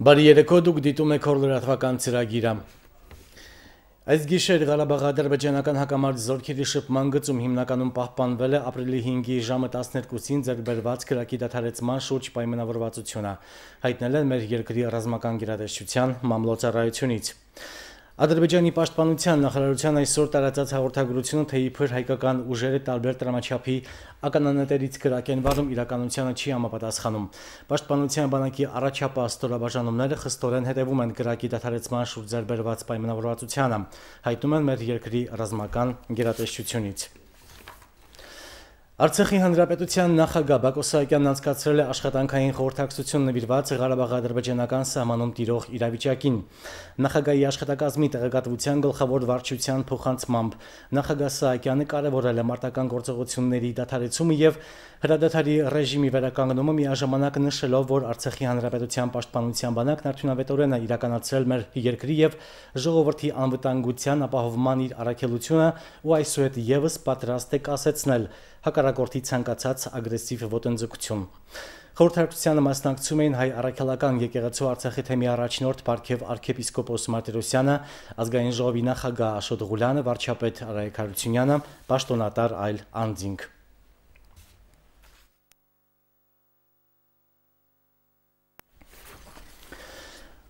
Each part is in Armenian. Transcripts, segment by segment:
Բարի երեկո, դուք դիտում եք Օր լրատվական ծրագիրը։ Այս գիշեր Ղարաբաղ-ադրբեջանական հակամարտ զորքերի շփման գծում հիմնականում պահպանվել է ապրիլի 5-ի ժամը 12-ին ձեռք բերված կրակի դադարեցման շուրջ պայմանավորվածությունը, հայտնել են մեր երկրի ռազմական գերատեսչության մամլոյցարայությունից։ Ադրբեջանի պաշտպանության նախարարության այսօր տարածած հաղորդագրությունը, թե իբր հայկական ուժերը տարբեր տրամաչափի ականանետերից կրակ են վարում, իրականությանը չի համապատասխանում։ Պաշտպանության բանակի առաջապահ ստորաբաժանումները խստորեն հետևում են կրակի դադարեցման շուրջ ձեռք բերված պայմանավորվածությանը, հայտնում են մեր երկրի ռազմական գերատեսչությունից։ Արցախի հանրապետության նախագահ Բակո Սահակյանն անցկացրել է աշխատանքային խորհրդակցություն նվիրված Ղարաբաղ-ադրբեջանական սահմանում տիրող իրավիճակին։ Նախագահի աշխատակազմի տեղեկատվության գլխավոր վարչության փոխանցմամբ նախագահ Սահակյանը կարևորել է մարտական գործողությունների դադարեցումը եւ հրադադարի ռեժիմի վերականգնումը, միաժամանակ նշելով, որ Արցախի հանրապետության պաշտպանության բանակն արդյունավետորեն է իրականացրել մեր երկրի եւ ժողովրդի անվտանգության ապահովման իր առաքելությունը ու այսուհետ եւս պատրաստ է կասեցնել հակառակորդի ցանկացած ագրեսիվ ոտնձգություն։ Խորհրդակցությանը մասնակցում էին հայ առաքելական եկեղեցու Արցախի թեմի առաջնորդ Պարքև arczepiskopos Մարտիրոսյանը, ազգային ժողովի նախագահ Աշոտ Ղուլյանը, վարչապետ Արայք Հարությունյանը, պաշտոնատար այլ անձինք։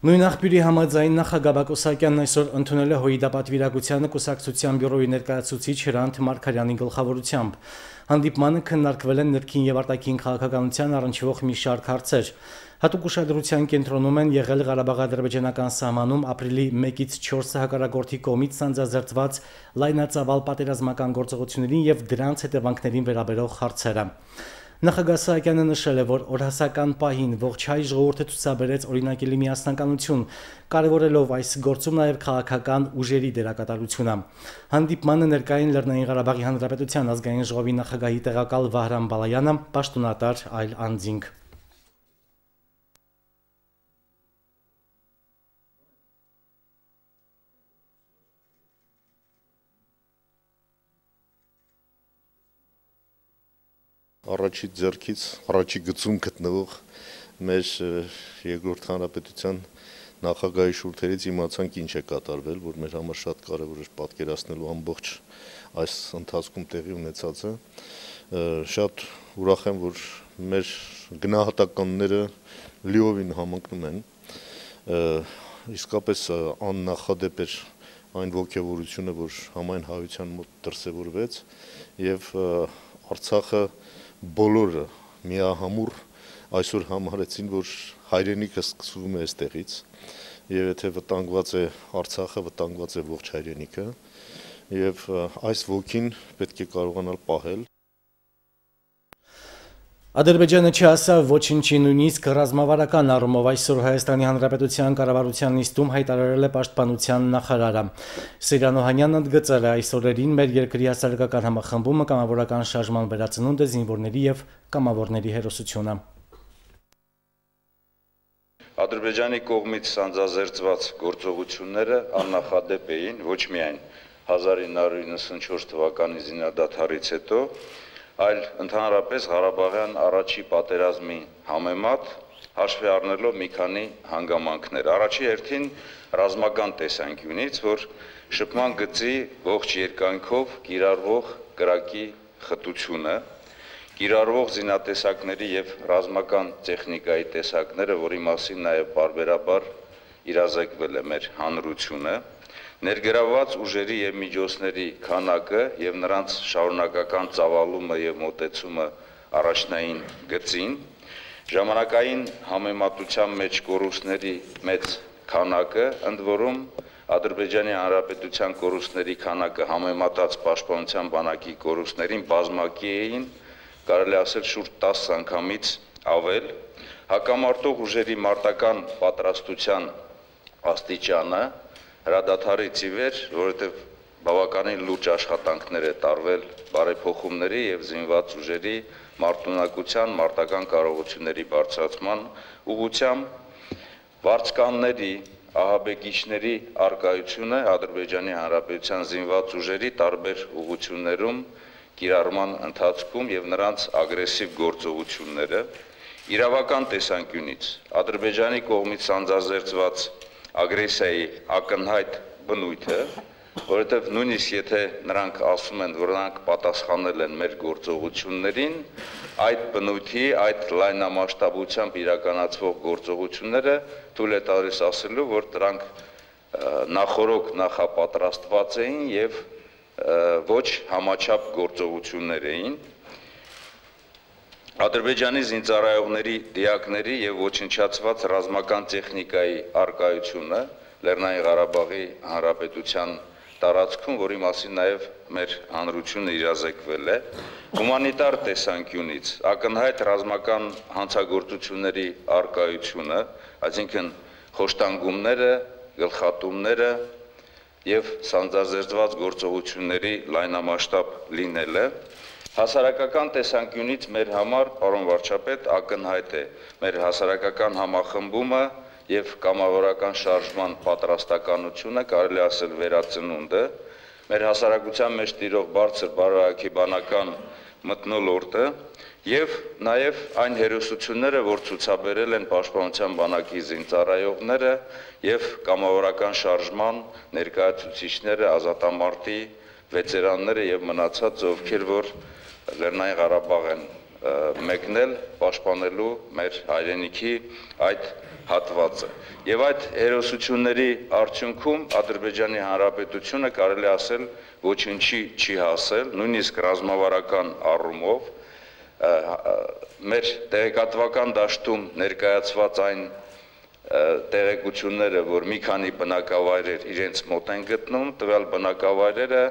Նույն աղբյուրի համաձայն նախագահ Բակո Սահակյանն այսօր ընդունել է Հույդապատվիրակությանը կուսակցության բյուրոյի ներկայացուցիչ Հրանտ Մարգարյանի գլխավորությամբ։ Հանդիպմանը քննարկվել են ներքին եւ արտաքին քաղաքականության առնչվող մի շարք հարցեր։ Հատուկ ուշադրության կենտրոնում են եղել Ղարաբաղ-ադրբեջանական սահմանում ապրիլի 1-ից 4-ը հակառակորդի կողմից սանձազերծված լայնածավալ պատերազմական գործողություններին եւ դրանց հետևանքներին վերաբերող հարցերը։ Նախագահ Սահակյանը նշել է, որ օրհասական պահին ողջ հայ ժողովուրդը ցուցաբերեց օրինակելի միասնականություն, կարևորելով այս գործում նաև քաղաքական ուժերի դերակատարությունը։ Հանդիպմանը ներկային Լեռնային Ղարաբաղի Հանրապետության ազգային ժողովի նախագահի տեղակալ Վահրամ Բալայանը, պաշտոնատար այլ անձինք։ Առաջի ձեռքից առաջի գծում գտնվող մեր երկրորդ հանրապետության նախագահի շուրթերից իմացանք ինչ է կատարվել, որ մեր համար շատ կարևոր էր պատկերացնելու ամբողջ այս ընթացքում տեղի ունեցածը։ Շատ ուրախ եմ, որ մեր գնահատականները լիովին համընկնում են։ Իսկապես աննախադեպ էր այն ոգևորությունը, որ համայն հայության մոտ դրսևորվեց եւ Արցախը բոլորը միահամուռ այսօր համարեցին, որ հայրենիքը սկսվում է այստեղից եւ եթե վտանգված է Արցախը, վտանգված է ողջ հայրենիքը եւ այս ոգին պետք է կարողանալ պահել։ Ադրբեջանը չհասավ ոչինչի, նույնիսկ ռազմավարական առումով այսօր Հայաստանի Հանրապետության կառավարության նիստում հայտարարել է պաշտպանության նախարարը։ Սիրան Օհանյանն ընդգծել է այս օրերին մեր երկրի հասարակական համախմբումը, կամավորական շարժման վերածնունդը, զինվորների եւ կամավորների հերոսությունը։ Ադրբեջանի կողմից սանձազերծված գործողությունները աննախադեպ էին ոչ միայն 1994 թվականի զինադադարից հետո, այլ ընդհանրապես Ղարաբաղյան առաջի պատերազմի համեմատ հաշվի առնելով մի քանի հանգամանքներ։ Առաջի հերթին ռազմական տեսանկյունից, որ շփման գծի ողջ երկայնքով կիրառվող կրակի խտությունը, կիրառվող զինատեսակների եւ ռազմական տեխնիկայի տեսակները, որի մասին նաեւ բարբերաբար իրազեկվել է մեր հանրությունը, ներգրավված ուժերի եւ միջոցների քանակը եւ նրանց շարունակական ծավալումը եւ մոտեցումը առաջնային գծին, ժամանակային համեմատության մեջ կորուստների մեծ քանակը, ընդ որում Ադրբեջանի Հանրապետության կորուստների քանակը համեմատած պաշտպանության բանակի կորուստներին բազմակի էին, կարելի ասել շուրջ 10 անգամից ավել, հակամարտող ուժերի մարտական պատրաստության աստիճանը հրադադարից ի վեր, որովհետև բավականին լուրջ աշխատանքներ է տարվել բարեփոխումների եւ զինված ուժերի մարտունակության, մարտական կարողությունների բարձրացման ուղղությամբ վարձկանների, ահաբեկիչների արկայությունը Ադրբեջանի Հանրապետության զինված ուժերի տարբեր ուղղություններում կիրառման ընթացքում եւ նրանց ագրեսիվ գործողությունները Իրավական տեսանկյունից Ադրբեջանի կողմից սանձազերծված ագրեսիայի ակնհայտ բնույթը, որովհետև նույնիսկ եթե նրանք ասում են, որ նրանք պատասխանել են մեր գործողություններին, այդ բնույթի, այդ լայնամասշտաբությամբ իրականացվող գործողությունները թույլ է տալիս ասելու, որ դրանք նախորոք նախապատրաստված էին եւ ոչ համաչափ գործողություններ էին։ Ադրբեջանի զինծառայողների, դիակների եւ ոչնչացված ռազմական տեխնիկայի արկայությունը Լեռնային Ղարաբաղի Հանրապետության տարածքում, որի մասին նաեւ մեր հանրությունը իրազեկվել է, հումանիտար տեսանկյունից ակնհայտ ռազմական հանցագործությունների արկայությունը, այսինքն խոշտանգումները, գլխատումները եւ սանձազերծված գործողությունների լայնամասշտաբ լինելը հասարակական տեսանկյունից մեր համար, պարոն վարչապետ, ակնհայտ է մեր հասարակական համախմբումը եւ կամավորական շարժման պատրաստականությունը, կարելի ասել վերածնունդը, մեր հասարակության մեջ տիրող բարձր բարոյաքիբանական մթնոլորտը եւ նաեւ այն հերոսությունները, որ ցուցաբերել են Պաշտպանության բանակի զինծառայողները եւ կամավորական շարժման ներկայացուցիչները, ազատամարտի վետերանները եւ մնացած ովքեր որ Լեռնային Ղարաբաղ են մեկնել պաշտպանելու մեր հայրենիքի այդ հատվածը։ Եվ այդ հերոսությունների արդյունքում Ադրբեջանի Հանրապետությունը կարելի ասել ոչինչի չի հասել, նույնիսկ ռազմավարական առումով մեր տեղեկատվական դաշտում ներկայացված այն տեղեկությունները, որ մի քանի բնակավայրեր իրենց մոտ են գտնում, տվյալ բնակավայրերը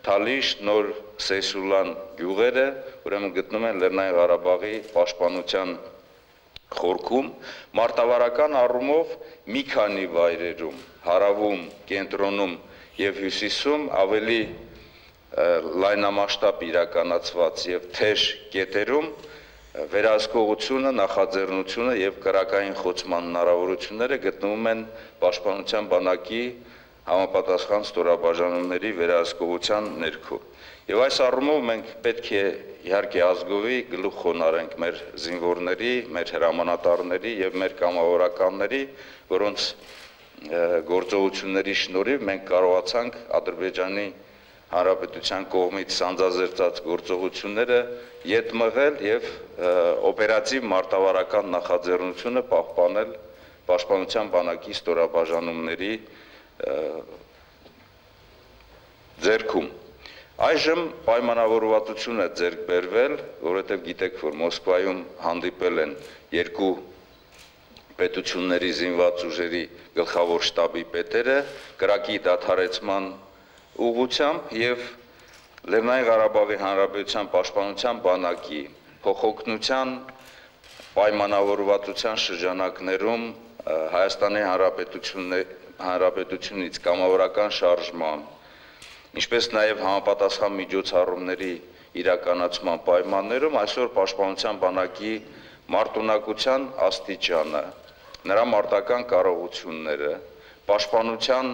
Թալիշ, Նոր Սեյսուլան գյուղերը, ուրեմն գտնում են Լեռնային Ղարաբաղի պաշտպանության խորքում, մարտավարական առումով մի քանի վայրերում, հարավում, կենտրոնում եւ հյուսիսում ավելի լայնամասշտաբ իրականացված եւ թեժ կետերում վերահսկողությունը, նախաձեռնությունը եւ կրակային խոցման հնարավորությունները գտնվում են Պաշտպանության բանակի համապատասխան ստորաբաժանումների վերահսկողության ներքո։ Եվ այս առումով մենք պետք է իհարկե ազգովի գլուխ խոնարհենք մեր զինվորների, մեր հրամանատարների եւ մեր կամավորականների, որոնց գործողությունների շնորհիվ մենք կարողացանք Ադրբեջանի Հանրապետության կողմից սանձազերծած գործողությունները ետ մղել եւ օպերատիվ մարտավարական նախաձեռնությունը պահպանել Պաշտպանության բանակի ստորաբաժանումների ձեռքում։ Այժմ պայմանավորվածություն է ձեռք բերվել, որովհետև գիտեք, որ Մոսկվայում հանդիպել են երկու պետությունների զինված ուժերի գլխավոր շտաբի պետերը կրակի դադարեցման ուղղությամբ եւ Լեռնային Ղարաբաղի Հանրապետության Պաշտպանության բանակի փոխօգնության պայմանավորվածության շրջանակներում Հայաստանի Հանրապետությունից կամավորական շարժման, ինչպես նաև համապատասխան միջոցառումների իրականացման պայմաններում այսօր Պաշտպանության բանակի մարտունակության աստիճանը, նրա մարտական կարողությունները, պաշտպանության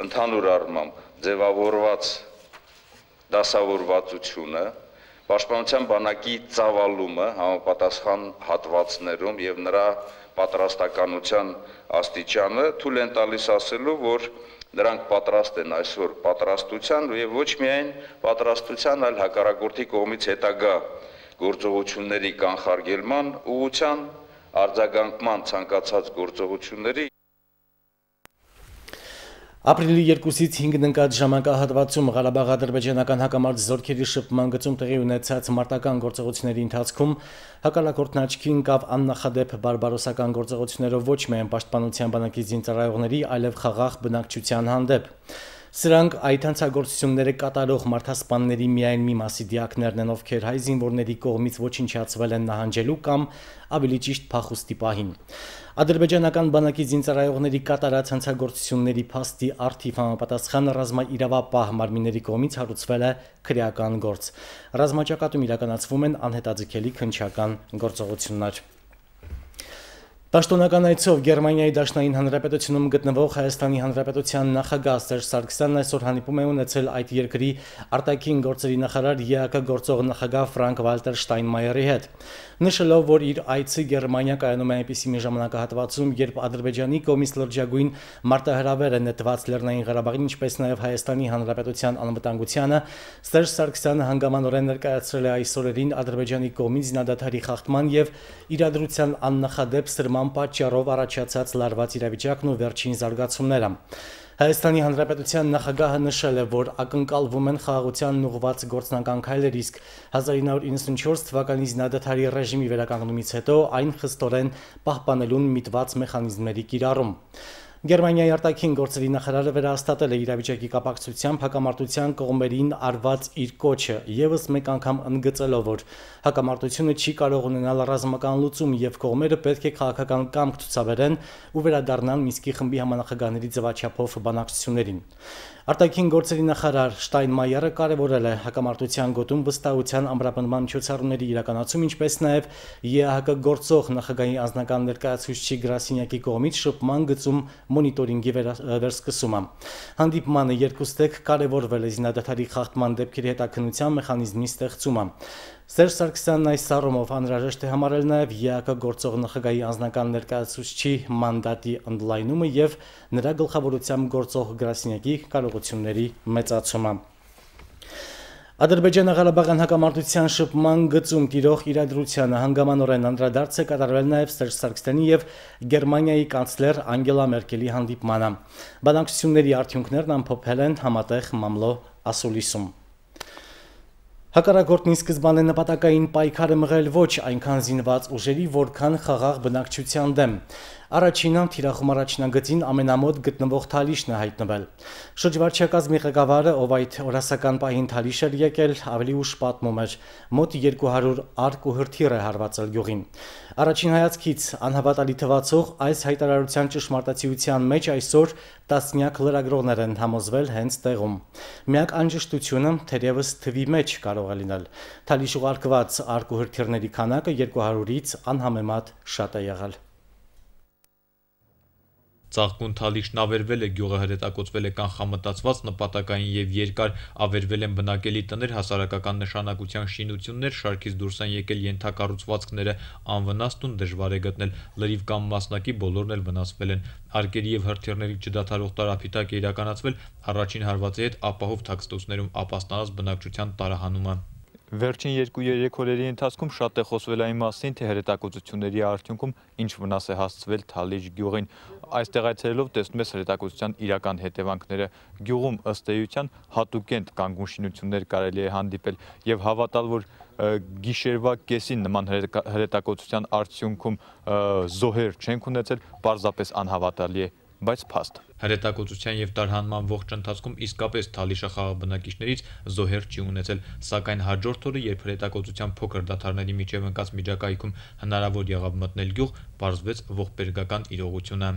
ընդհանուր առմամբ ձևավորված դասավորվածությունը, Պաշտպանության բանակի ծավալումը համապատասխան հատվածներում եւ նրա պատրաստականության աստիճանը թույլ են տալիս ասելու, որ նրանք պատրաստ են այսօր պատրաստության եւ ոչ միայն պատրաստության, այլ հակառակորդի կողմից հետագա գործողությունների կանխարգելման ուղղության արձագանքման ցանկացած գործողությունների Ապրիլի 2-ից 5-ն ընկած ժամանակահատվածում Ղարաբաղ-ադրբեջանական հակամարտ զորքերի շփման գծում տեղի ունեցած մարտական գործողությունների ընթացքում հակառակորդն աչքի ընկավ աննախադեպ բարբարոսական գործողություններով ոչ միայն Պաշտպանության բանակի զինծառայողների, այլև խաղաղ բնակչության հանդեպ։ Սրանք այդ հանցագործությունները կատարող մարդասպանների միայն մի մասի դիակներն են, ովքեր հայ զինվորների կողմից ոչնչացվել են նահանջելու կամ ավելի ճիշտ փախուստի պահին։ Ադրբեջանական բանակի զինծառայողների կատարած հանցագործությունների փաստի առթիվ համապատասխան ռազմաիրավապահ մարմինների կողմից հարուցվել է քրեական գործ։ Ռազմաճակատում իրականացվում են անհետաձգելի քննչական գործողություններ։ Պաշտոնական այցով Գերմանիայի Դաշնային Հանրապետությունում գտնվող Հայաստանի Հանրապետության նախագահ Սերժ Սարգսյանն այսօր հանդիպում է ունեցել այդ երկրի արտաքին գործերի նախարար ԵԱԿ գործող նախագահ Ֆրանկ-Վալտեր Շտայնմայերի հետ։ Նշելով, որ իր այցը Գերմանիա կայանում է այնպիսի մի ժամանակահատվածում, երբ Ադրբեջանի կողմից լրջագույն մարտահրավեր է նետված Լեռնային Ղարաբաղին, ինչպես նաև Հայաստանի Հանրապետության անվտանգությանը, Սերժ Սարգսյանը հանգամանորեն ներկայացրել է այս օրերին Ադրբեջանի կողմից զինադադարի խախտման եւ իրադրության աննախադեպ սրման պատճառով առաջացած լարված իրավիճակն ու վերջին զարգացումները։ Հայաստանի Հանրապետության նախագահը նշել է, որ ակնկալվում են խաղաղությանն ուղղված գործնական քայլեր, իսկ 1994 թվականի զինադադարի ռեժիմի վերականգնումից հետո այն խստորեն պահպանելուն միտված մեխանիզմների կիրառում։ Գերմանիայի արտաքին գործերի նախարարը վերահաստատել է իրավիճակի կապակցությամբ հակամարտության կողմերին արված իր կոչը, եւս մեկ անգամ ընդգծելով, որ հակամարտությունը չի կարող ունենալ ռազմական լուծում եւ կողմերը պետք է քաղաքական կամք ցուցաբերեն ու վերադառնան Մինսկի խմբի համանախագահների ձևաչափով բանակցություններին։ Արտաքին գործերի նախարար Շտայնմայերը կարևորել է հակամարտության գոտում վստահության ամրապնդման միջոցառումների իրականացում, ինչպես նաև ԵԱՀԿ գործող նախագահի անձնական ներկայացուցիչի գրասենյակի կողմից շփման գծում մոնիտորինգի վերսկսումը։ Հանդիպմանը երկուստեք կարևորվել է զինադադարի խախտման դեպքերի հետաքննության մեխանիզմի ստեղծումը։ Սերժ Սարգսյանն այս առումով անհրաժեշտ է համարել նաև ԵԱԿ գործող նախագահի անձնական ներկայացուցչի մանդատի ընդլայնումը եւ նրա գլխավորությամբ գործող գրասենյակի կարողությունների մեծացումը։ Ադրբեջանա-Ղարաբաղյան հակամարտության շփման գծում տիրող իրադրությանը հանգամանորեն անդրադարձ է կատարվել նաև Սերժ Սարգսյանի եւ Գերմանիայի կանցլեր Անգելա Մերկելի հանդիպմանը։ Բանակցությունների արդյունքներն ամփոփել են Համատեղ մամլո ասուլիսում։ Հակառակորդն ի սկզբանե նպատակային պայքար է մղել ոչ այնքան զինված ուժերի, որքան խաղաղ բնակչության դեմ։ Առաջինը թիրախում առաջնագծին ամենամոտ գտնվող Թալիշն է հայտնվել։ Շրջվարչակազմի ղեկավարը, ով այդ օրասական պահին Թալիշ էր եկել, ավելի ուշ պատմում էր, մոտ 200 արկ ու հրթիռ է հարվածել գյուղին։ Առաջին հայացքից անհավատալի թվացող այս հայտարարության ճշմարտացիության մեջ այսօր տասնյակ լրագրողներ են համոզվել հենց տեղում։ Միակ անջշտությունը թերևս թվի մեջ կարող է լինել։ Թալիշ ուղարկված արկ ու հրթիռների քանակը 200-ից անհամեմատ շատ է եղել։ Ծաղկուն Թալիշն ավերվել է, գյուղը հրետակոծվել է կանխամտածված, նպատակային եւ երկար, ավերվել են բնակելի տներ, հասարակական նշանակության շինություններ, շարքից դուրս են եկել ենթակառուցվածքները, անվնաս տուն դժվար է գտնել, լրիվ կամ մասնակի բոլորն էլ վնասվել են։ Արկերի եւ հրթիռների չդադարող տարափիտակ է իրականացվել, առաջին հարվածի հետ ապահով թաքստոցներում ապաստանած բնակչության տարահանումը։ Վերջին 2-3 օրերի ընթացքում շատ է խոսվել այն մասին, թե հրետակոծությունների արդյունքում ինչ վնաս է հասցվել Թալիշ գյուղին։ Այստեղ այցելելով տեսնում ես հրետակոծության իրական հետևանքները։ Գյուղում ըստ էության հատուկենտ կանգուն շինություններ կարելի է հանդիպել եւ հավատալ, որ գիշերվա կեսին նման հրետակոծության արդյունքում զոհեր չենք ունեցել, պարզապես անհավատալի է, բայց փաստ։ Հրետակոծության եւ տարհանման ողջ ընթացքում իսկապես Թալիշը խաղաղ բնակիչներից զոհեր չի ունեցել, սակայն հաջորդ օրը, երբ հրետակոծության փոքր դադարների միջև ընկած միջակայքում հնարավոր եղավ մտնել գյուղ, պարզվեց ողբերգական իրողությունը։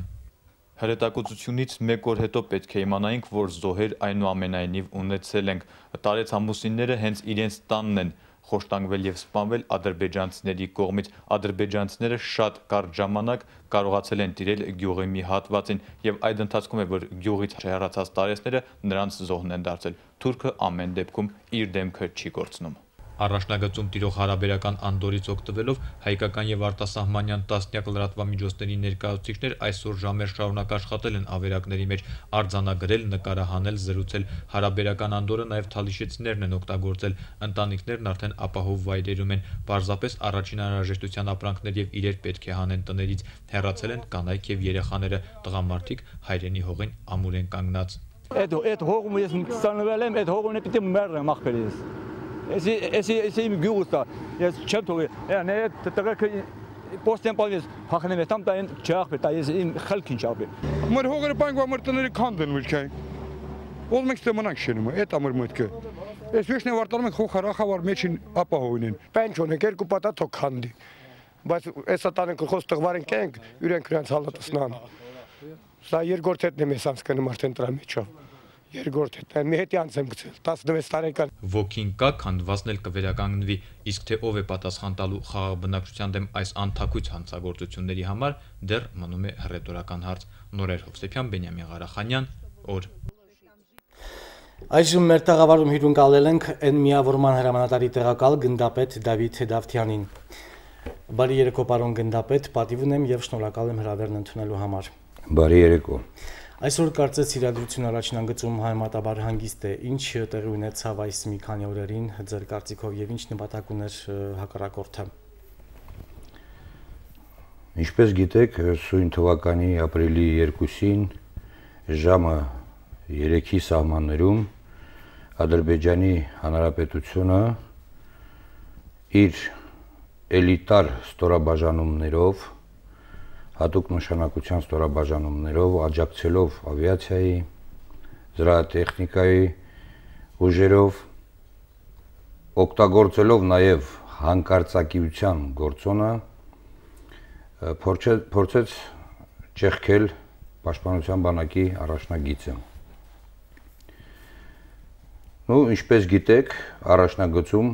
Հրետակոծությունից մեկ օր հետո պետք է իմանայինք, որ զոհեր այնուամենայնիվ ունեցել ենք։ Տարեց ամուսինները հենց իրենց տանն են խոշտանգվել եւ սպանվել ադրբեջանցիների կողմից։ Ադրբեջանցիները շատ կարճ ժամանակ կարողացել են տիրել գյուղի մի հատվածին եւ այդ ընթացքում է, որ գյուղից հեռացած տարեցները նրանց զոհն են դարձել։ Թուրքը ամեն դեպքում իր դեմքը չի կորցնում։ Առաջնագծում տիրող հարաբերական անդորից օգտվելով հայկական եւ արտասահմանյան տասնյակ լրատվամիջոցների ներկայացուցիչներ այսօր ժամեր շարունակ աշխատել են ավերակների մեջ, արձանագրել, նկարահանել, զրուցել։ Հարաբերական անդորը նաեւ թալիշեցիներն են օգտագործել։ Ընտանիքներն արդեն ապահով վայրերում են, պարզապես առաջին անհրաժեշտության ապրանքներ եւ իրեր պետք է հանեն տներից։ Հեռացել են կանայք եւ երեխաները, տղամարդիկ հայրենի հողին ամուր են կանգնած։ Այդ հողում ես ստանվել եմ, այդ հողն է պիտի մեռնեմ ախպերից։ Если им гюста, я чем то, я не это после полис, хахнем там та чахбе, та им халкин чахбе. Мөр хогэр банк ва мөртөнөр кандын үлкәй. Ул мекстеманак шенеме, это амыр мөткө. Эсвешне вартармын хохараха var meçin апаhoynen. Пенчоне керку пата токханди. Բայց էսատանեն կխոստող վարեն կենք, յուրենք ուրենց հալատսնան։ Սա երկորդ հետն եմ ես անցկանում արդեն տրա մեջով։ երկրորդ հետ մի հետի անց եմ գցել 16 տարեկան Ոգին կա, քանդվածն էլ կվերականգնվի, իսկ թե ով է պատասխան տալու խաղաղ բնակչության դեմ այս անթակույց հանցագործությունների համար դեռ մնում է հռետորական հարց։ Նորեր Հովսեփյան, Բենյամին Ղարախանյան, օր։ Այժմ մեր տաղավարում հյուրընկալել ենք N միավորման հրամանատարի տեղակալ գնդապետ Դավիթ Դավթյանին։ Բարի երեկո, պարոն գնդապետ, պատիվ ունեմ եւ շնորհակալ եմ հրավերն ընդունելու համար։ Բարի երեկո։ Այսօր կարծես իրադրություն առաջին անգծում համեմատաբար հանգիստ է, ինչ տեղի ունեցավ այս մի քանի օրերին ձեր կարծիքով եւ ինչ նպատակ ուներ հակառակորդը։ Ինչպես գիտեք, սույն թվականի ապրիլի 2-ին ժամը 3-ի սահմաններում Ադրբեջանի Հանրապետությունը իր էլիտար ստորաբաժանումներով հատուկ նշանակության ստորաբաժանումներով, աջակցելով ավիացիայի, զրահատեխնիկայի ուժերով, օգտագործելով նաև հանկարծակիության գործոնը, փորձեց ճեղքել Պաշտպանության բանակի առաջնագիծը։ Ինչպես գիտեք, առաջնագծում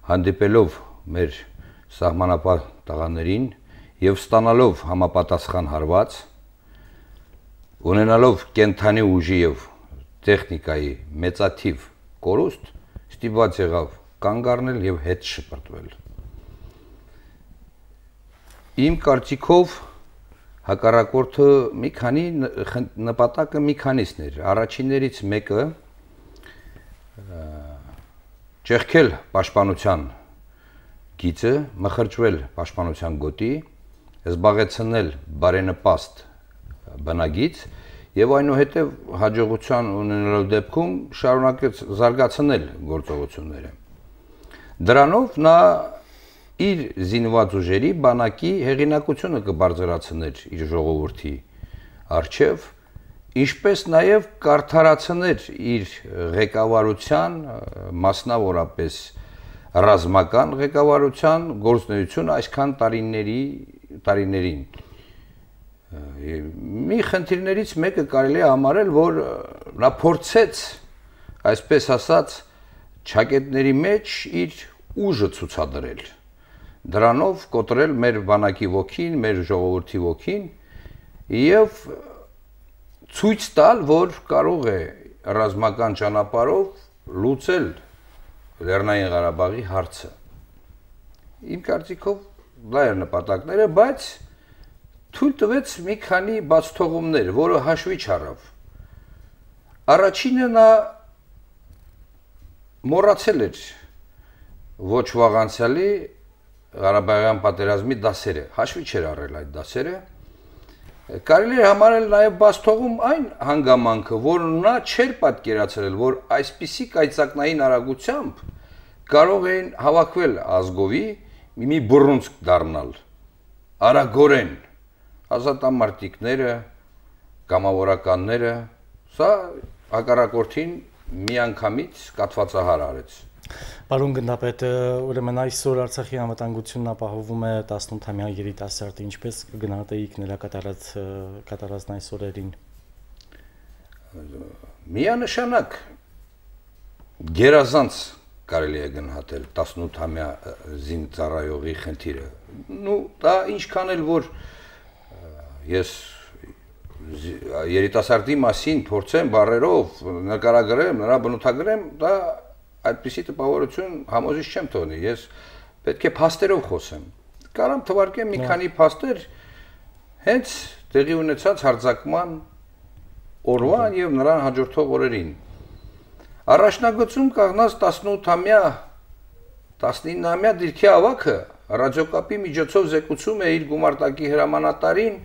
հանդիպելով մեր սահմանապահ տղաներին եւ ստանալով համապատասխան հարված, ունենալով կենթանի ուժի եւ տեխնիկայի մեծաթիվ կորուստ, ստիպված եղավ կանգ առնել եւ հետ շպրտվել։ Իմ կարծիքով հակառակորդը մի քանի նպատակը մի քանիսն էր։ Առաջիններից մեկը ճեղքել պաշտպանության գիծը, մխրճվել պաշտպանության գոտի, զբաղեցնել բարենպաստ բնագիծ եւ այնուհետեւ հաջողության ունենալու դեպքում շարունակեց զարգացնել գործողությունները։ Դրանով նա իր զինված ուժերի բանակի հեղինակությունը կբարձրացներ իր ժողովրդի առջև, ինչպես նաեւ կարդարացներ իր ղեկավարության, մասնավորապես ռազմական ղեկավարության գործունեությունը այսքան տարիներին։ Մի խնդիրներից մեկը կարելի է համարել, որ նա փորձեց, այսպես ասած, ճակետների մեջ իր ուժը ցուցադրել։ Դրանով կոտրել մեր բանակի ոգին, մեր ժողովրդի ոգին եւ ցույց տալ, որ կարող է ռազմական ճանապարհով լուծել Լեռնային Ղարաբաղի հարցը։ Իմ կարծիքով դա էր նպատակները, բայց թույլ տվեց մի քանի բացթողումներ, որը հաշվի չառավ։ Առաջինը նա մոռացել էր ոչ վաղանցյալի Ղարաբաղյան պատերազմի դասերը, հաշվի չէր առել այդ դասերը։ Կարելի է համարել նաև բացթողում այն հանգամանքը, որ նա չէր պատկերացրել, որ այսպիսի կայծակնային արագությամբ կարող էին հավաքվել ազգովի մի բռունցք դառնալ, արագորեն, ազատամարտիկները, կամավորականները, սա հակառակորդին միանգամից կաթվածահար արեց։ Պարոն գնդապետ, ուրեմն այսօր Արցախի անվտանգությունն ապահովում է 18-ամյա երիտասարդը, ինչպես կգնահատեիք նրա կատարածն այս օրերին։ Միանշանակ գերազանց կարելի է գնահատել 18-ամյա զինծառայողի խնդիրը։ Դա ինչքան էլ որ ես երիտասարդի մասին փորձեմ բառերով նկարագրեմ, նրա բնութագրեմ, դա այդպիսի տպավորություն համոզիչ չեմ թողնի, ես պետք է փաստերով խոսեմ։ Կարամ թվարկեմ մի քանի փաստեր հենց տեղի ունեցած հարձակման օրվան եւ նրան հաջորդող օրերին։ Առաջնագծում կանգնած 18-ամյա 19-ամյա դիրքի ավագը ռադիոկապի միջոցով զեկուցում է իր գումարտակի հրամանատարին,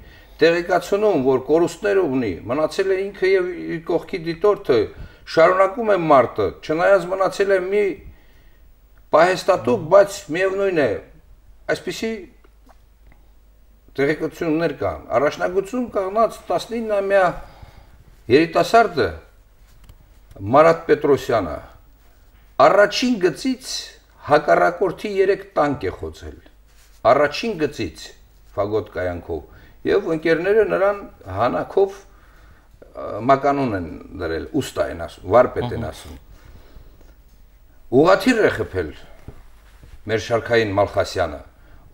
տեղեկացնում, որ կորուստներ ունի, մնացել է ինքը եւ իր կողքի դիտորդը, շարունակում է մարտը, չնայած մնացել է մի պահեստատուկ, բայց միևնույն է, այսպիսի տեղեկություններ կան։ Առաջնագծում կանգնած 19-ամյա երիտասարդը Մարատ Պետրոսյանը առաջին գծից հակառակորդի 3 տանկ է խոցել։ Առաջին գծից ֆագոտ կայանքով եւ ընկերները նրան հանակով մականուն են դրել, ուստա են ասում, վարպետ են ասում։ Ուղղաթիռ է խփել մեր շարքային Մալխասյանը։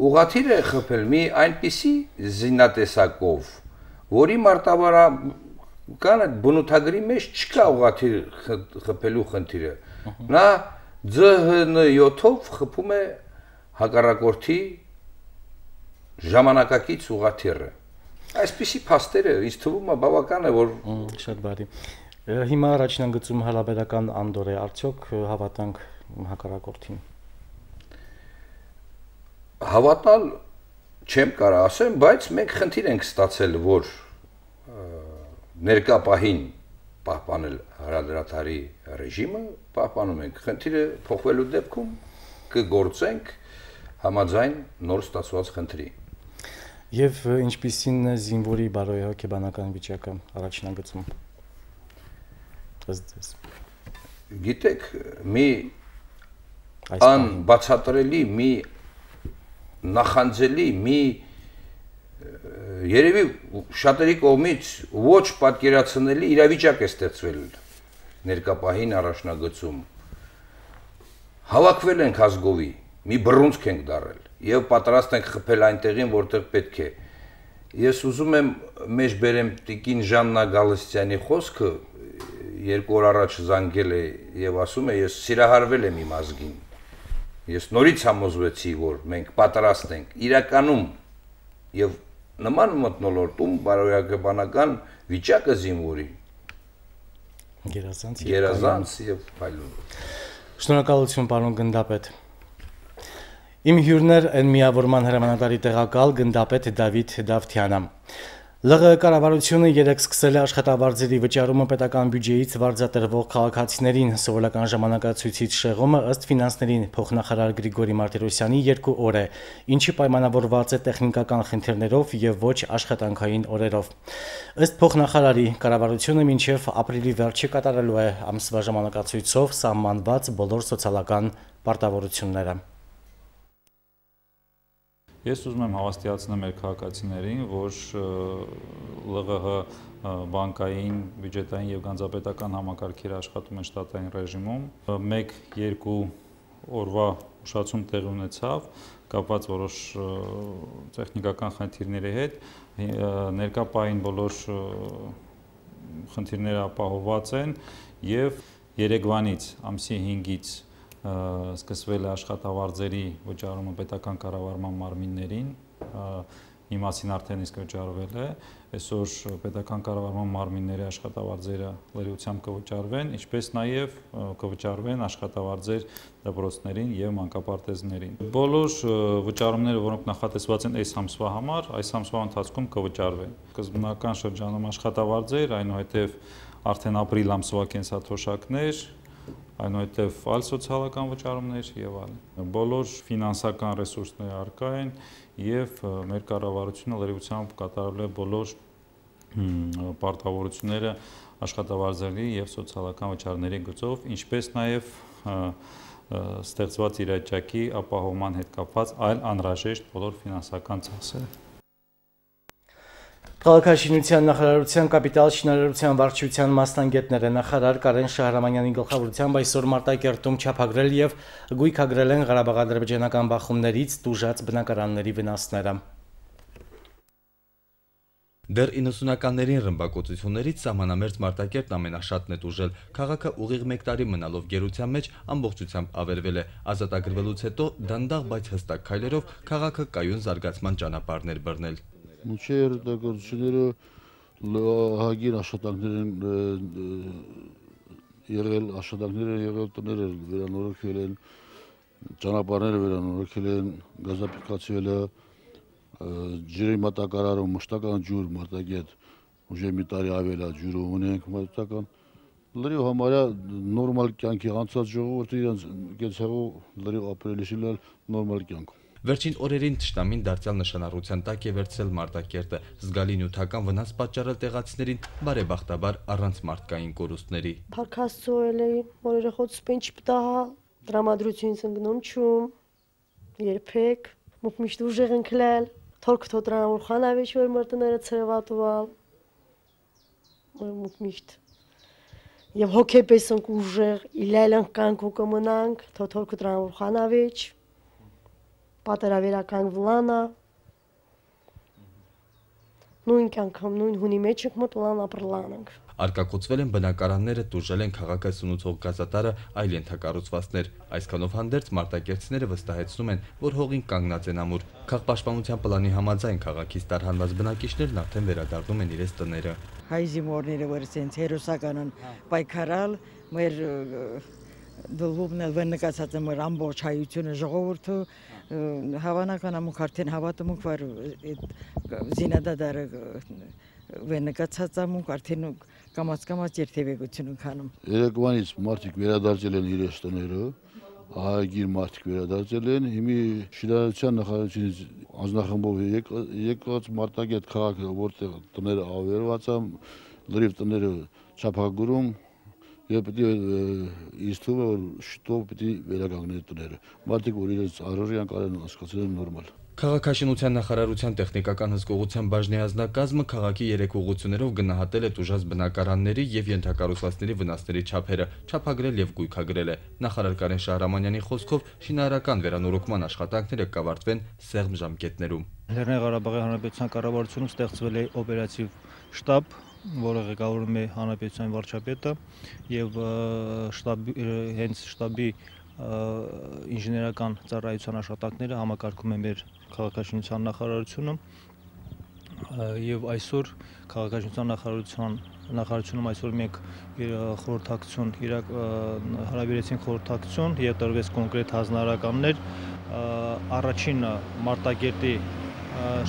Ուղղաթիռ է խփել մի այնպիսի զինատեսակով, որի մարտավարական այդ բնութագրի մեջ չկա ուղղաթիռ խփելու խնդիրը։ Նա ՁՀՆ7-ով խփում է հակառակորդի ժամանակակից ուղղաթիռը։ Այսպիսի փաստերը ինձ թվում է բավական է, որ շատ բարի։ Հիմա առաջնագծում հարաբերական անդոր է, արդյոք հավատանք հակառակորդին։ Հավատալ չեմ կարող ասեմ, բայց մենք խնդիր ենք ստացել, որ ներկա պահին պահպանել հրադադարի ռեժիմը, պահպանում ենք։ Խնդիրը փոխվելու դեպքում կգործենք համաձայն նոր ստացված խնդրի։ Եվ ինչպիսին է զինվորի բարոյահոգեբանական վիճակը առաջնագծում։ Գիտեք, մի անբացատրելի, մի նախանձելի, մի երևի շատերի կողմից ոչ պատկերացնելի իրավիճակ է ստեղծվել ներկա պահին առաջնագծում։ Հավաքվել ենք ազգովի, մի բռունցք ենք դարել եւ պատրաստ ենք խփել այնտեղին, որտեղ պետք է։ Ես ուզում եմ մեջ բերեմ տիկին Ժաննա Գալստյանի խոսքը, 2 օր առաջ զանգել է եւ ասում է, ես սիրահարվել եմ իմ ազգին։ Ես նորից համոզվեցի, որ մենք պատրաստ ենք իրականում եւ նման մթնոլորտում բարոյական վիճակը զինվորի գերազանց եւ այլն։ Շնորհակալություն, պարոն գնդապետ։ Իմ հյուրներ են միավորման հրամանատարի տեղակալ գնդապետ Դավիթ Դավթյանը։ ԼՂ կառավարությունը երեկ սկսել է աշխատավարձերի վճարումը պետական բյուջեից վարձատրվող քաղաքացիներին։ Սովորական ժամանակացույցից շեղումը ըստ ֆինանսների փոխնախարար Գրիգորի Մարտիրոսյանի 2 օր է, ինչը պայմանավորված է տեխնիկական խնդիրներով եւ ոչ աշխատանքային օրերով։ Ըստ փոխնախարարի, կառավարությունը մինչև ապրիլի վերջը կատարելու է ամսվա ժամանակացույցով սահմանված բոլոր սոցիալական պարտավորությունները։ Ես ուզում եմ հավաստիացնել մեր քաղաքացիներին, որ ԼՂՀ բանկային, բյուջետային եւ գանձապետական համակարգերը աշխատում են շտատային ռեժիմում։ 1-2 օրվա ուշացում տեղի ունեցավ, կապված որոշ տեխնիկական խնդիրների հետ։ Ներկա պահին բոլոր խնդիրները ապահովված են եւ Երևանից ամսի 5-ից սկսվել է աշխատավարձերի վճարումը պետական կառավարման մարմիններին, մի մասին արդեն իսկ վճարվել է, այսօր պետական կառավարման մարմինների աշխատավարձերը լրիվությամբ կվճարվեն, ինչպես նաև կվճարվեն աշխատավարձեր դպրոցներին եւ մանկապարտեզներին։ Բոլոր վճարումները, որոնք նախատեսված են այս ամսվա համար, այս ամսվա ընթացքում կվճարվեն։ Սկզբնական շրջանում աշխատավարձեր, այնուհետև արդեն ապրիլ ամսվա կենսաթոշակներ, այնուհետև այլ սոցիալական վճարումներ եւ այլն։ Բոլոր ֆինանսական ռեսուրսները առկա են եւ մեր կառավարությունը լրիվությամբ կատարել է բոլոր պարտավորությունները աշխատավարձերի եւ սոցիալական վճարների գծով, ինչպես նաեւ ստեղծված իրավիճակի ապահովման հետ կապված այլ անհրաժեշտ բոլոր ֆինանսական ծախսերը։ Քաղաքաշինության նախարարության կապիտալ շինարարության վարչության մասնագետները նախարար Կարեն Շահրամանյանի գլխավորությամբ այսօր Մարտակերտում չափագրել եւ գույքագրել են Ղարաբաղ-ադրբեջանական բախումներից տուժած բնակարանների վնասները։ Դեռ 90-ականներին ռմբակոծություններից սահմանամերձ Մարտակերտն ամենաշատն է տուժել։ Քաղաքը ուղիղ 1 տարի մնալով գերության մեջ ամբողջությամբ ավերվել է։ Ազատագրվելուց հետո դանդաղ, բայց հստակ քայլերով քաղաքը կայուն զարգացման ճանապարհներ բռնել։ Մինչև հետաքրքրությունները հագին աշխատանքներ են եղել, տները վերանորոգվել են, ճանապարհները վերանորոգվել են, գազափոխվել է, ջրի մատակարարում մշտական ջուր Մարտակերտ ուժը մի տարի ավել է ջուրը ունենք մշտական։ Լրիվ համարյա նորմալ կյանքի անցած ժողովուրդը իրենց կեցեղով լրիվ ապրելիշիլ նորմալ կյանքում։ Վերջին օրերին թշնամին դարձյալ նշանառության տակ է վերցրել Մարտակերտը, զգալի նյութական վնաս պատճառել տեղացիներին, բարեբախտաբար առանց մարդկային կորուստների։ Փարքաստոյել էի, որերը խոցում են չպտահա, տրամադրությունից ընկնում չում, երբեք, մուկ միշտ ուժեղ ընկլել, թորք թոտրան որ խանավիչ որ մրտները ցրվատուալ։ միշտ եւ հոգեպես ենք ուժեղ, իլայլանք կանք ու կմնանք, թոթորք դրանով խանավեջ, պատերավերական վլանա, նույն կյանքամ, նույն հունի մեջ ենք մտլան ապրլանանք։ Արկակոծվել են բնակարանները, տուժել են քաղաքը սնուցող գազատարը, այլ ենթակառուցվածքներ։ Այսքանով հանդերձ մարտակերտցիները վստահեցնում են, որ հողին կանգնած են ամուր։ Քաղաքպաշտպանության պլանի համաձայն քաղաքից տարհանված բնակիչներն արդեն վերադառնում են իրենց տները։ Հայ զինվորները որ ցենց հերոսական պայքարալ, մեր դժվարն վնկացած մեր ամբողջ հայությունը ժողովուրդը հավանական ամուք արդեն հավատում ենք, որ զինադադարը վնկացած ամուք արդեն կամաց երթևեկություն ունենում։ Երեկվանից մարդիկ վերադարձել են իրենց տները, ահագին մարդիկ վերադարձել են, հիմի շինարարության նախարարությունից անձնախմբով եկած Մարտակերտ քաղաքը, որտեղ տները ավերված են, լրիվ տները չափագրում եւ պետք է ինձ թվում է որ շուտով պետք է վերականգնեն տները։ Մարդիկ որ իրենց առօրյան կարեն հասկացել են նորմալ։ Քաղաքաշինության նախարարության տեխնիկական հսկողության բաժնի անձնակազմը քաղաքի 3 ուղղություններով գնահատել է տուժած բնակարանների եւ ենթակառուցվածքների վնասների չափերը, չափագրել եւ գույքագրել է։ Նախարար Կարեն Շահրամանյանի խոսքով շինարարական վերանորոգման աշխատանքները կավարտվեն սեղմ ժամկետներում։ Լեռնային Ղարաբաղի Հանրապետության կառավարությունում ստեղծվել է օպերատիվ շտաբ, որը ղեկավարում է Հանրապետության վարչապետը եւ հենց շտաբի ինժեներական ծառայության աշխատանքները համակարգում է մեր քաղաքաշինության նախարարությունը եւ այսօր քաղաքաշինության նախարարությունում այսօր մենք խորհրդակցություն հարաբերեցինք խորհրդակցություն եւ տրվեց կոնկրետ հանրահարականներ առաջին Մարտակերտի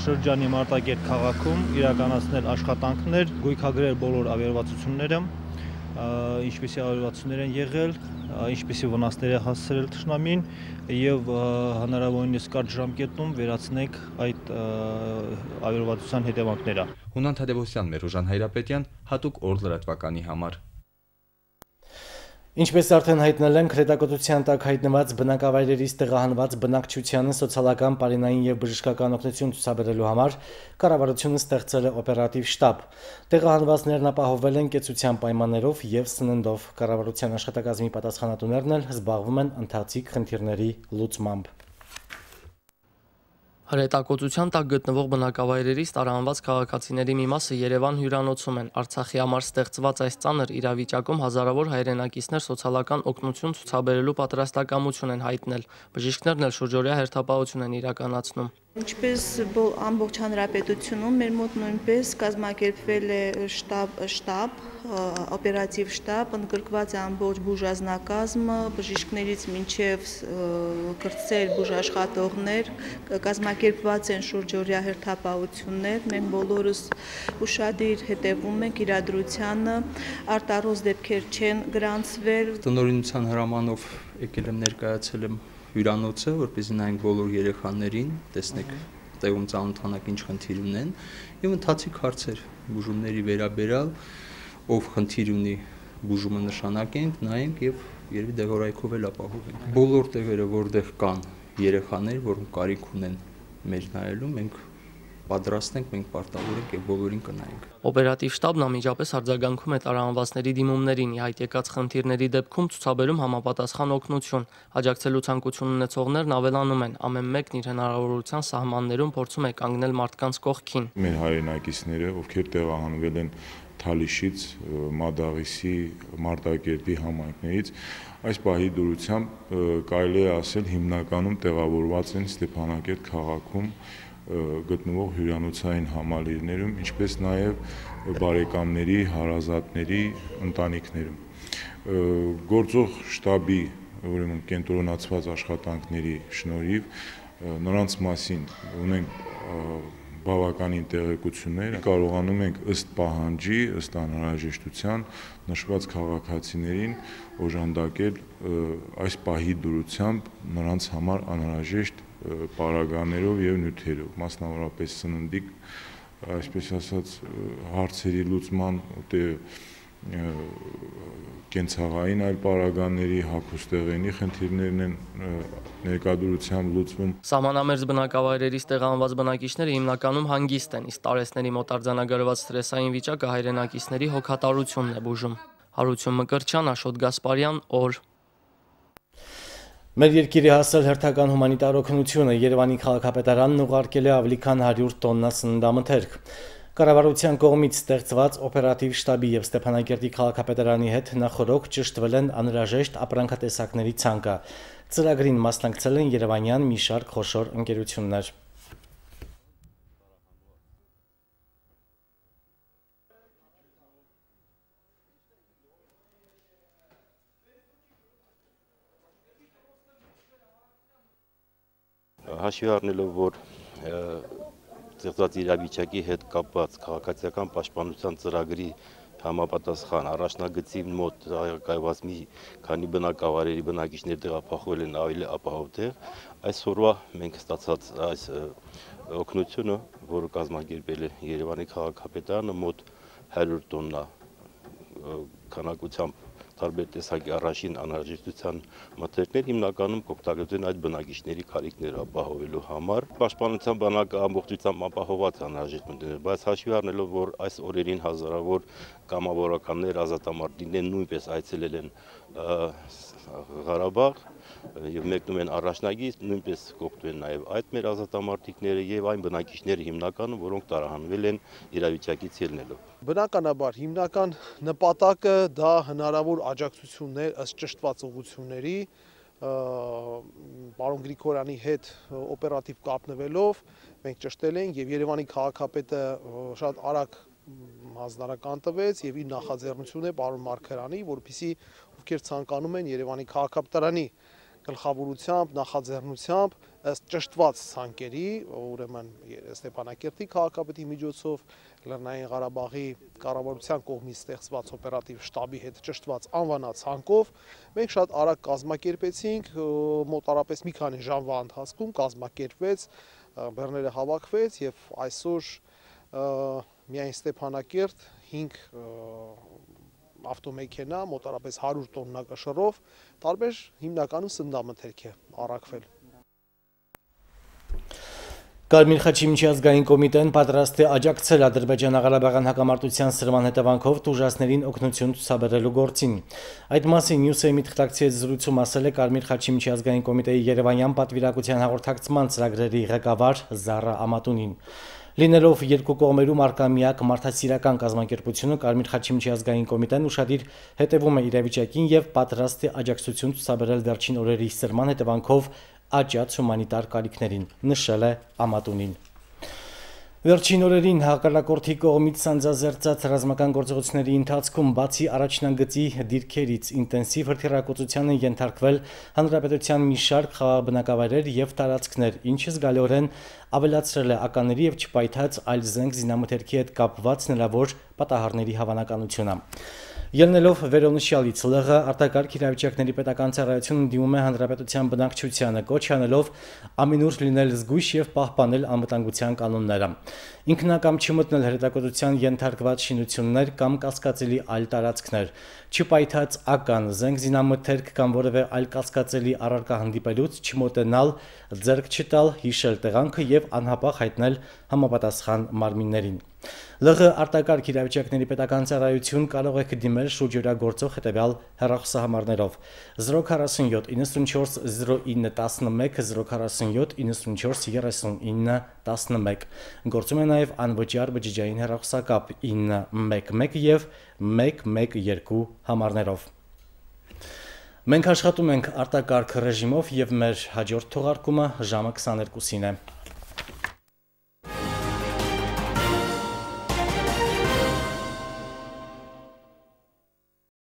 շրջանի Մարտակերտ քաղաքում իրականացնել աշխատանքներ, գույքագրել բոլոր ավերվածությունները, ինչպիսի ավերվածություններ են եղել, ինչպիսի վնասներ է հասցրել թշնամին եւ հնարավորինս կարճ ժամկետում վերացնենք այդ ավերվածության հետևանքները։ Հունան Թադևոսյան, Մերուժան Հայրապետյան, հատուկ օր լրատվականի համար։ Ինչպես արդեն հայտնել ենք, հետաքրքրության տակ հայտնված բնակավայրերից տեղահանված բնակչությանը սոցիալական, պարենային եւ բժշկական օգնություն ցուցաբերելու համար կառավարությունը ստեղծել է օպերատիվ շտաբ։ Տեղահանվածներն ապահովել են կեցության պայմաններով եւ սննդով։ Կառավարության աշխատակազմի պատասխանատուներն էլ զբաղվում են ընթացիկ խնդիրների լուծմամբ։ Հրետակոծության տակ գտնվող բնակավայրերից տարանված քաղաքացիների մի մասը Երևան հյուրանոցում են։ Արցախի համար ստեղծված այս ծանր իրավիճակում հազարավոր հայրենակիցներ սոցիալական օգնություն ցուցաբերելու պատրաստակամություն են հայտնել։ Բժիշկներն էլ շուրջօրյա հերթապահություն են իրականացնում։ Ինչպես ամբողջ հանրապետությունում մեր մոտ նույնպես կազմակերպվել է շտաբ, օպերատիվ շտաբ, ընդգրկված է ամբողջ բուժազնակազմը, բժիշկներից մինչև կրտսեր բուժաշխատողներ, կազմակերպված են շուրջօրյա հերթապահություններ, մենք բոլորս ուշադիր հետևում ենք իրադրությանը, արտառոց դեպքեր չեն գրանցվել։ Տնօրինության հրամանով եկել եմ ներկայացել եմ հյուրանոցը, որպեսզի նայենք բոլոր երեխաներին, տեսնենք տեղում ծանոթանանք ինչ խնդիր ունեն եւ ընթացիկ հարցեր բուժումների վերաբերյալ, ով խնդիր ունի բուժումը նշանակենք, նայենք եւ երևի դեղորայքով էլ ապահովենք։ Բոլոր տեղերը, որտեղ կան երեխաներ, որոնք կարիք ունեն մեր նայելու, մենք պատրաստ ենք, մենք պարտավոր ենք եւ բոլորին կնայենք։ Օպերատիվ շտաբն անմիջապես արձագանքում է տարանվածների դիմումներին, ի հայտ եկած խնդիրների դեպքում ցուցաբերում համապատասխան օգնություն։ Աջակցելու ցանկություն ունեցողներն ավելանում են, ամեն մեկն իր հնարավորության սահմաններում փորձում է կանգնել մարդկանց կողքին։ Մեր հայրենակիցները, ովքեր տեղահանվել են Թալիշից, Մադաղիսի, Մարտակերտի համայնքներից, այս պահի դուրսությամբ կարելի է ասել հիմնականում տեղավորված են Ստեփանակերտ քաղաքում գտնվող հյուրանոցային համալիրներում, ինչպես նաև բարեկամների, հարազատների ընտանիքներում։ Գործող շտաբի, ուրեմն կենտրոնացված աշխատանքների շնորհիվ նրանց մասին ունենք բավականին տեղեկություններ, կարողանում ենք ըստ պահանջի, ըստ անհրաժեշտության նշված քաղաքացիներին օժանդակել այս պահի դուրսությամբ նրանց համար անհրաժեշտ պարագաներով եւ նյութերով, մասնավորապես սննդի, այսպես ասած, հարցերի լուծման կենցաղային այլ պարագաների, հագուստեղենի խնդիրներն են ներկայությամբ լուծվում։ Սահմանամերձ բնակավայրերից տեղանված բնակիչները հիմնականում հանգիստ են, իսկ տարեցների մոտ արձանագրված սթրեսային վիճակը հայրենակիցների հոգատարությունն է բուժում։ Հարություն Մկրտչյան, Աշոտ Գասպարյան, օր։ Մեր երկիրի հասել հերթական հումանիտար օգնությունը Երևանի քաղաքապետարանն ուղարկել է ավելի քան 100 տոննա սննդամթերք։ Կառավարության կողմից ստեղծված օպերատիվ շտաբի եւ Ստեփանակերտի քաղաքապետարանի հետ նախորոք ճշտվել են անհրաժեշտ ապրանքատեսակների ցանկը։ Ծրագրին մասնակցել են երևանյան մի շարք խոշոր ընկերություններ։ Հաշվի առնելով, որ ստեղծված իրավիճակի հետ կապված քաղաքացիական պաշտպանության ծրագրի համապատասխան առաջնագծի մոտ կայված մի քանի բնակավայրերի բնակիչներ տեղափոխվել են ավելի ապահով տեղ, այսօրվա մենք ստացած այս օգնությունը, որը կազմակերպել է Երևանի քաղաքապետարանը, մոտ 100 տոննա քանակությամբ տարբեր տեսակի առաջին անհրաժեշտության մթերքներ հիմնականում կօգտագործեն այդ բնակիչների կարիքները ապահովելու համար։ Պաշտպանության բանակը ամբողջությամբ ապահոված է անհրաժեշտ մթերքներ, բայց հաշվի առնելով, որ այս օրերին հազարավոր կամավորականներ, ազատամարտիկներ նույնպես այցելել են Ղարաբաղ եւ մեկնում են առաջնագիծ, նույնպես կօգտվեն նաեւ այդ մեր ազատամարտիկները եւ այն բնակիչները հիմնականում, որոնք տարահանվել են իրավիճակից ելնելով։ Բնականաբար հիմնական նպատակը դա հնարավոր աջակցություններ ըստ ճշտված ուղղությունների պարոն Գրիգորյանի հետ օպերատիվ կապնվելով մենք ճշտել ենք եւ Երևանի քաղաքապետը շատ արագ հանձնարարական տվեց եւ իր նախաձեռնություն է պարոն Մարգարյանի, որպեսզի ովքեր ցանկանում են Երևանի քաղաքապետարանի գլխավորությամբ, նախաձեռնությամբ ըստ ճշտված ցանկերի, ուրեմն Ստեփանակերտի քաղաքապետի միջոցով Լեռնային Ղարաբաղի կառավարության կողմից ստեղծված օպերատիվ շտաբի հետ ճշտված անվանացանկով մենք շատ արագ կազմակերպեցինք, մոտարապես մի քանի ժամվա ընթացքում կազմակերպվեց, բեռները հավաքվեց եւ այսօր միայն Ստեփանակերտ 5 ավտոմեքենա, մոտարապես 100 տոննա կշռով, տարբեր հիմնականում սննդամթերք է առաքվել։ Կարմիր խաչի միջազգային կոմիտեն պատրաստ է աջակցել Ադրբեջան-Ղարաբաղյան հակամարտության սրման հետևանքով տուժածներին օգնություն ցուցաբերելու գործին։ Այդ մասին Նյուսեյմի թղթակցի հետ զրույցում ասել է Կարմիր խաչի միջազգային կոմիտեի Երևանյան պատվիրակության հաղորդակցման ծրագրերի ղեկավար Զարա Ամատունին։ Լինելով երկու կողմերում առկա միակ մարդասիրական կազմակերպությունը Կարմիր խաչի միջազգային կոմիտեն ուշադիր հետևում է իրավիճակին եւ պատրաստ է աջակցություն ցուցաբերել վերջին օրերի սրման հետևանքով աճած հումանիտար կարիքներին, նշել է Ամատունին։ Վերջին օրերին հակառակորդի կողմից սանձազերծած ռազմական գործողությունների ընթացքում բացի առաջնագծի դիրքերից ինտենսիվ հրթիռակոծության են ենթարկվել հանրապետության մի շարք խաղաբնակավայրեր եւ տարածքներ, ինչը զգալիորեն ավելացրել է ականների եւ չպայթած այլ զենք զինամթերքի հետ կապված հնարավոր պատահարների հավանականությունը։ Ելնելով վերոնշյալից ԼՂ արտակարգ իրավիճակների պետական ծառայությունը դիմում է հանրապետության բնակչությանը կոչ անելով ամենուր լինել զգույշ եւ պահպանել անվտանգության կանոնները։ Ինքնակամ չմտնել հրետակոծության ենթարկված շինություններ կամ կասկածելի այլ տարածքներ, չպայթած ական, զենք զինամթերք կամ որևէ այլ կասկածելի առարկա հանդիպելուց չմոտենալ, ձեռք չտալ, հիշել տեղանքը եւ անհապաղ հայտնել համապատասխան մարմիններին։ ԼՂ արտակարգ իրավիճակների պետական ծառայություն կարող է դիմել շուրջօրագործող հետևյալ հեռախոսահամարներով 047 94 09 11 047 94 39 11 գործում է նաև անվճար բջջային հեռախոսակապ 911 եւ 112 համարներով։ Մենք աշխատում ենք արտակարգ ռեժիմով եւ մեր հաջորդ թողարկումը ժամը 22-ին է։